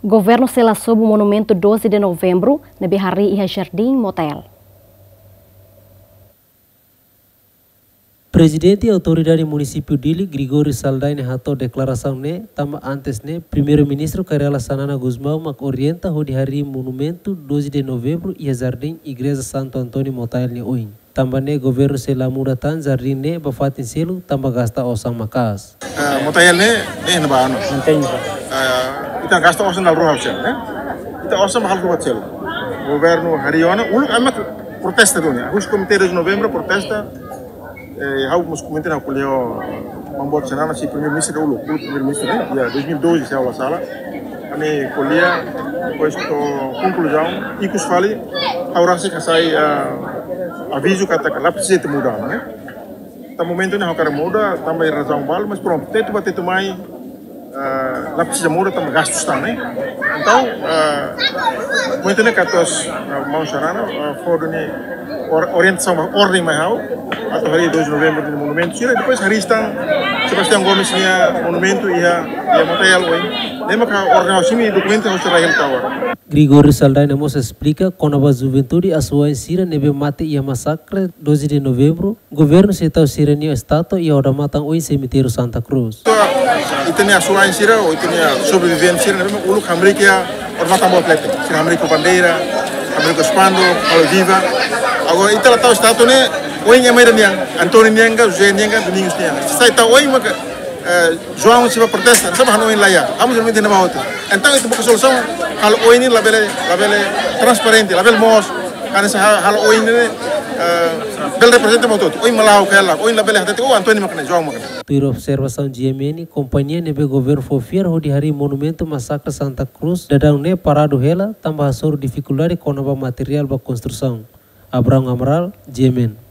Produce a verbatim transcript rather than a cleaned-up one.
Governu sei la sobu monumentu doze de Novembru ne'ebé harii iha Jardín Motael. Prezidente Autoridade Munisípiu Dili, Gregório Saldanha, hato'o deklarasaun ne'e tanba antes ne'e Primeiru-Ministru Kay Rala Xanana Gusmão mak orienta hodi harii monumentu doze de Novembru iha Jardín Igreja Santo António Motael nia oin. Tanba ne'e governu sei la muda tan jardín ne'e ba fatin seluk tanba gasta osan maka'as. Eh, Motael ne'e, eh, ne'ebá, no? Mantein, Pak. Eh, ita gasta osan dala rua ha'u sel, eh? Ita osan ba halo buat sel. Governu harii ona, uluk ami protesta duni. Husi Komité doze de Novembru protesta. Eh, ha'u mós ko'alia ho Maun Boot Xanana, sei Primeiru-Ministru uluk, uluk Primeiru-Ministru, eh? Ya, dois mil e doze, se ha'u la sala. Ami ko'alia, depois to'o konkluzaun, ikus fali, ha'u rasik hasai, eh, avizu katak la presiza ita muda, eh? Tanba momentu ne'e ha'u hakarak muda, tanba razaun balu, mas prontu, tetu ba tetu mai, eh, la presiza muda, tanba gastu tan, eh. Entaun, eh, momentu ne'e katuas, eh, Maun Xanana, eh, fó duni or-, orientasaun, orden mai ha'u, atu harii doze de Novembru nia monumentu sira, depois harii tan Sebastião Gomes nia monumentu iha, iha Motael oin. Ne'e maka orden ha'u simu, dokumentu ha'u sei rai hela to'o agora. Gregório Saldanha mós esplika kona-ba juventude asuwa'in sira ne'ebé mate iha masakre doze de Novembru, governu sei tau sira-nia estátua iha odamatan oin semitériu Santa Cruz. Ita-nia asuwa'in sira, ou ita-nia sobrevivente sira, ne'ebé uluk hamriik iha odamatan boot leten. Sira hamriik ho bandeira, hamriik ho spanduk, halo viva. Agora, ita la tau estátua ne'e, oin ema ida nian, António nian ka, José nian ka, Domingos nian. Sai tau oin maka, eh, João sei bá protesta, sá mak ha'u-nia oin la iha, ha'u mós oin ne'e ba hotu. Entaun, ita buka solusaun, halo oin ne'e labele, labele transparente, labele moos, hanesan ha-, halo oin ne'e, eh, bele reprezenta ba hotu. Oin malaho kela, oin labele hatete, oh, António mak ne'e, João mak ne'e. Tuir observasaun G M N, kompañia ne'ebé governu fó fiar hodi harii monumentu masakre Santa Cruz, daudaun ne'e paradu hela, tanba hasoru difikuldade kona-ba materiál ba konstrusaun. Abrão Amaral, G M N.